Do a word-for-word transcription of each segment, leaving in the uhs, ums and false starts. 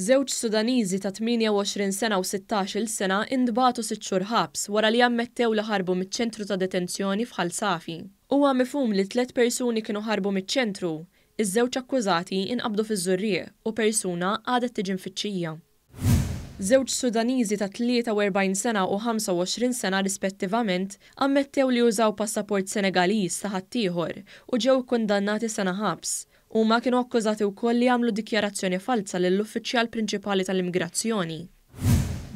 Żewġ Sudaniżi ta' tmienja u għoxrin sena u sittax-il sena intbagħtu sitt xhur ħabs wara li ammettew li ħarbu miċ-ċentru ta' detenzjoni f'Ħal Safi. Huwa mifhum li tliet persuni kienu ħarbu miċ-ċentru. Iż-żewġ akkużati inqabdu fiż-Żurrieq u persuna għadha tiġi mfittxija. Żewġ Sudaniżi ta' tlieta u erbgħin sena u ħamsa u għoxrin sena rispettivament ammettew li użaw passaport Senegaliż ta' ħaddieħor u ġew ikkundannati sena ħabs. Huma kienu akkużati wkoll li għamlu dikjarazzjoni falza lill-uffiċjal prinċipali tal-immigrazzjoni.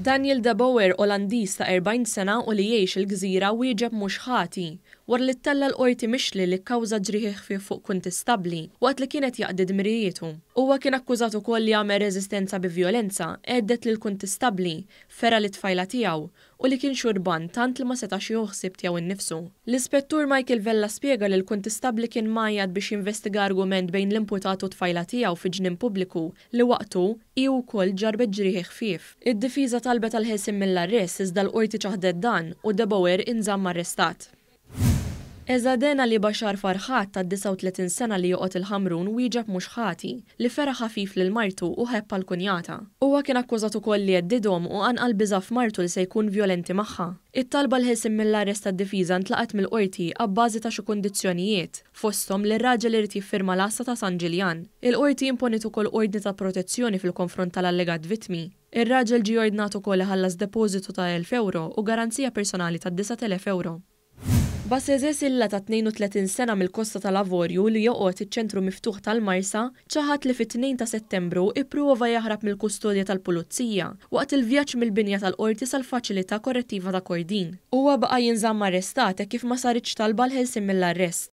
Daniel De Boer, Olandiż ta' erbgħin sena u li jgħix il-gżira, wieġeb mhux ħati wara li ttella' l-qorti mixli li kkawża ġrieħi ħfief fuq kuntistabbli waqt li kien qed jaqdi dmirijietu. Huwa kien akkużat ukoll li għamel reżistenza bi vjolenza, għedded lil kuntistabbli, fera lit-tfajla tiegħu u li kien xurban tant li ma setax jieħu ħsieb tiegħu nnifsu. L-Ispettur Michael Vella spjega li l-kuntistabbli kien mgħajjat biex jinvestiga argument bejn l-imputat u t-tfajla tiegħu fi ġnien pubbliku li waqtu hi wkoll ġarbet ġrieħi ħfief. Id-difiża talbet għal ħelsien mill-arrest iżda l-qorti ċaħdet dan u De Boer inżamm arrestat. Eżaden Ali Bashar Farħat ta' disgħa u tletin sena li joqgħod il-Ħamrun wieġeb mhux ħati li fera ħafif lil martu u ħebb għal kunjata. Huwa kien akkużat ukoll li għeddidhom u qanqal biża' f'martu li se jkun vjolenti magħha. It-talba l-ħelsien mill-arrest tad-difiża ntlaqgħet mill-qorti abbażi ta' xi kundizzjonijiet, fosthom li r-raġel irid jiffirma l-għassa ta' San Ġiljan. Il-qorti imponiet ukoll ordni ta' protezzjoni fil-konfront tal-allegat vittmi. Ir-raġel ġie ordnat ukoll iħallas depożitu ta' elf euro u garanzija personali ta' disat elef euro. Baseze Silla ta' tnejn u tletin sena mill-Kosta tal-Avorju li joqgħod iċ-ċentru miftuħ tal-Marsa ċaħad li fit-tnejn ta' Settembru ipprova jaħrab mill-kustodja tal-Pulizija waqt il-vjaġġ mill-binja tal-qorti sal-faċilità korrettiva ta' Kordin. Huwa baqa' jinżamm arrestat hekk kif ma saritx talba l-ħelsien mill-arrest.